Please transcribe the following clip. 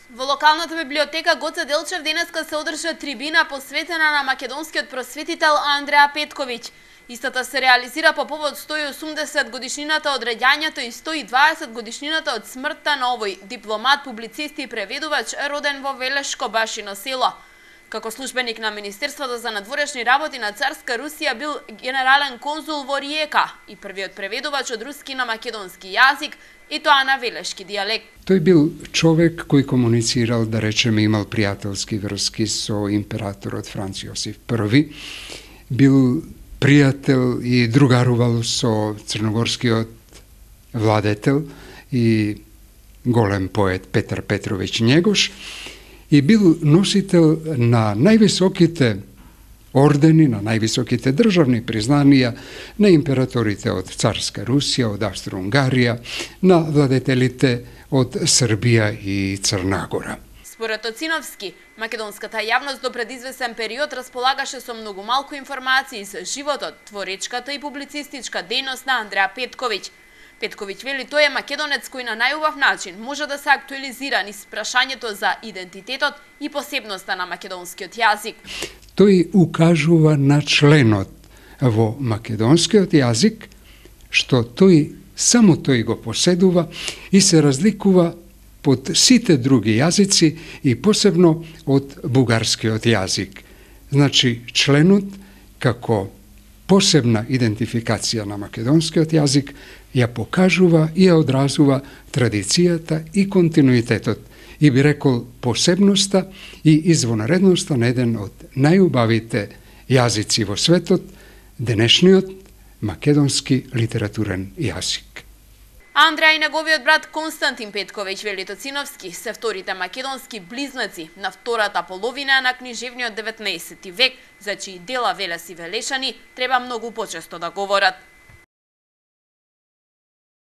Во локалната библиотека Гоце Делчев денеска се одржа трибина посветена на македонскиот просветител Андреа Петковиќ. Истата се реализира по повод 180 годишнината од раѓањето и 120 годишнината од смртта на овој дипломат, публицист и преведувач роден во Велешко Башино село. Како службеник на Министерството за надворешни работи на Царска Русија бил генерален конзул во Риека и првиот преведувач од руски на македонски јазик, и тоа на велешки дијалект. Тој бил човек кој комуницирал, да речеме, имал пријателски врски со императорот Франц Јосиф I, бил пријател и другарувал со црногорскиот владетел и голем поет Петар Петровиќ Његош и бил носител на највисоките ордени, на највисоките државни признанија на императорите од Царска Русија, од Австро-Унгарија, на владетелите од Србија и Црна Гора. Според Оциновски, македонската јавност до пред извесен период располагаше со многу малку информации за животот, творечката и публицистичка дејност на Андреа Петковиќ. Петковиќ вели тој е македонец кој на најубав начин може да се актуализира низ прашањето за идентитетот и посебноста на македонскиот јазик. Тој укажува на членот во македонскиот јазик, што само тој го поседува и се разликува од сите други јазици и посебно од бугарскиот јазик. Значи, членот како посебна идентификација на македонскиот јазик ја покажува и ја одразува традицијата и континуитетот и би рекол посебноста и извонредноста на еден од најубавите јазици во светот, денешниот македонски литературен јазик. Андреа и неговиот брат Константин Петковиќ, вели Тоциновски, се вторите македонски близнаци на втората половина на книжевниот 19 век, за чии дела велеси велешани треба многу почесто да говорат.